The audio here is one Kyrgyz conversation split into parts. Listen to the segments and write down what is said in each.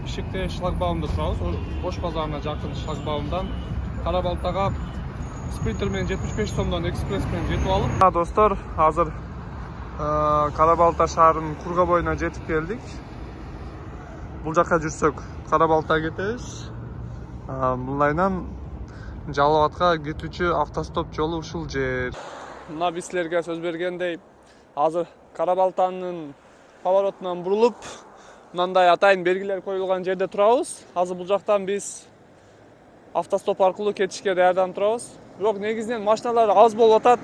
Бишкекте шлагбаумда турабыз. Ош базарына жакын шлагбаумдан Кара Балтага спринтер менен 75 сомдон экспресс менен жетип алып. Достор, азыр Кара Балта шаарынын Курга боюна жетип келдик. Бул жакка жүрсөк Кара Балтага кетебиз. Мындайынан Жалал Абадка кетүүчү автостоп жолу ушул жер. Мына биз силерге сөз бергендей, азыр Кара Балтанын поворотунан бурулуп, мындай атайын белгилер коюлган жерде турабыз. Азыр бул жактан биз автостоп аркылуу кетишке даярданып турабыз. Бирок негизинен машиналар аз болуп атат.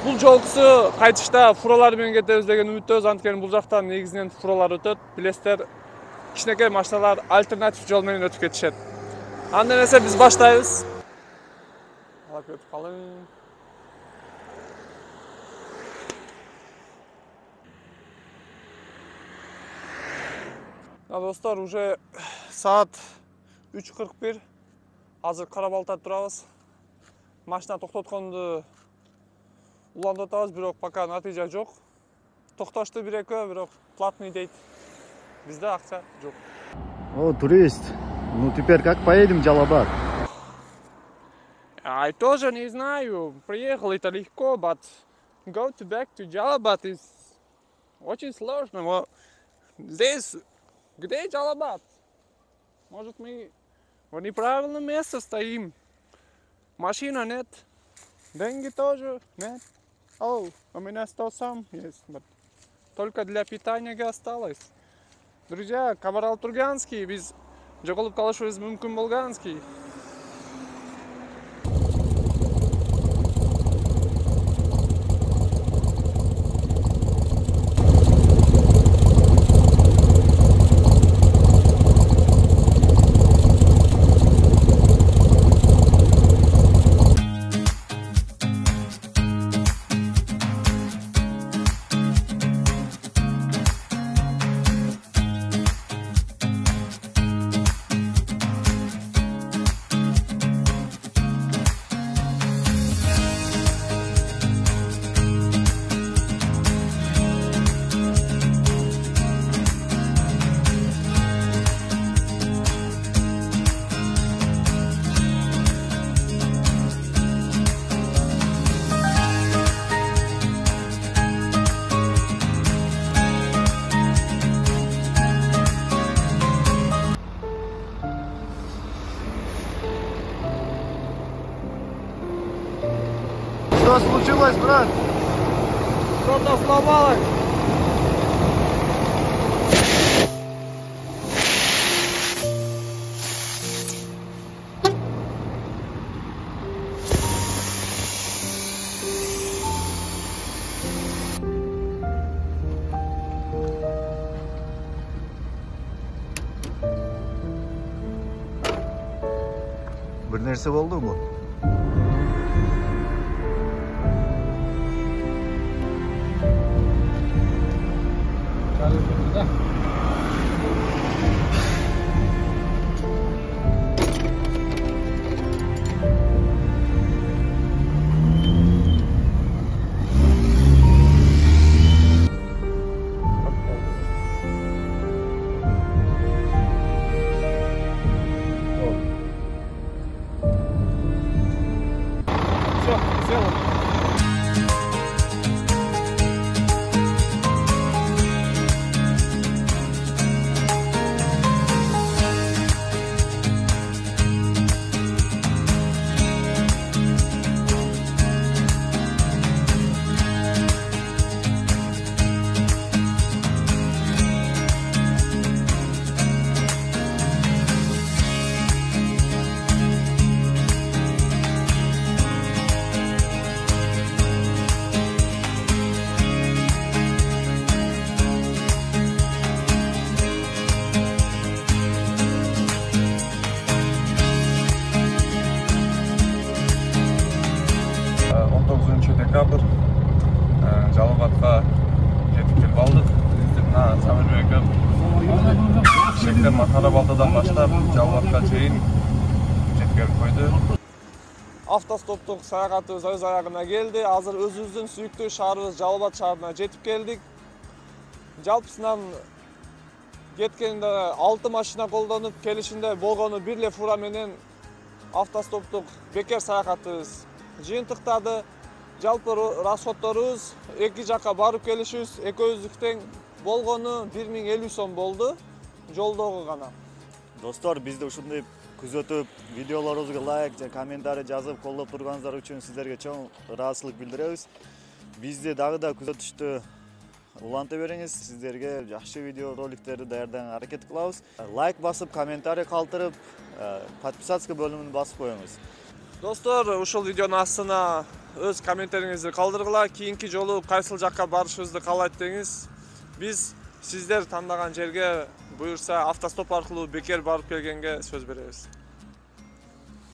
Бул жолкусу кайтышта фуралар менен кетебиз деген үмүттөбүз. Анткени бул жактан негизинен фуралар өтөт. Билесиздер, кичинекей машиналар альтернатив жол менен өтүп кетишет. Анда эмесе биз баштайбыз. Алып кетип калың. Достор, уже саат 3:41. Азыр Кара Балтада турабыз. Машина токтотконду улантып атабыз, бирок пока натыйжа жок. Токтошту бир-экөө, бирок платный дейт. Бизде акча жок. О, турист. Ну теперь как поедем в Джалабад? Я тоже не знаю. Приехал это легко, but go back to Джалабад is очень сложно. Вот здесь, где Джалабад? Может, мы в неправильном месте стоим? Машина нет, деньги тоже нет. О, у меня 100 сом есть, только для питания осталось. Друзья, Кабарал Турганский, биз жоголуп калышыбыз мүмкүн болгонский. Что случилось, брат? Что-то сломалось. Bir nerse oldu mu? декабрь Жалал Абадка жетип келип алдык. Мына Самир экөөм Бишкектен Кара Балтадан баштап Жалал Абадка чейин жеткирип койду. Автостоптук саягатыбыз өз аягына келди. Азыр өзүбүздүн сүйүктүү шаарыбыз Жалал Абад шаарына жетип келдик. Жалпысынан кеткенде 6 машина колдонуп келишинде болгону бир эле фура менен автостоптук бекер саякатыбыз жыйынтыктады. Жалпы расходторубуз эки жакка барып келишибиз экөөбүздүкү тең болгону 1050 сом болду жолдогу гана. Достор, бизди ушундай күзөтүп, видеолорубузга лайк жана комментарий жазып колдоп турганыңыздар үчүн сиздерге чоң ыраазычылык билдиребиз. Бизди дагы да күзөтүштү уланта бериңиз. Сиздерге жакшы видео роликтерди даярдаганга аракет кылабыз. Лайк басып, комментарий калтырып, подписаться бөлүмүн басып коюңуз. Достор, ушул видеонун астына өз комментариңизди калтыргыла. Кийинки жолу кайсыл жакка барышыбызды каалайт деңиз. Биз сиздер тандаган жерге буюрса автостоп аркылуу бекер барып келгенге сөз беребиз.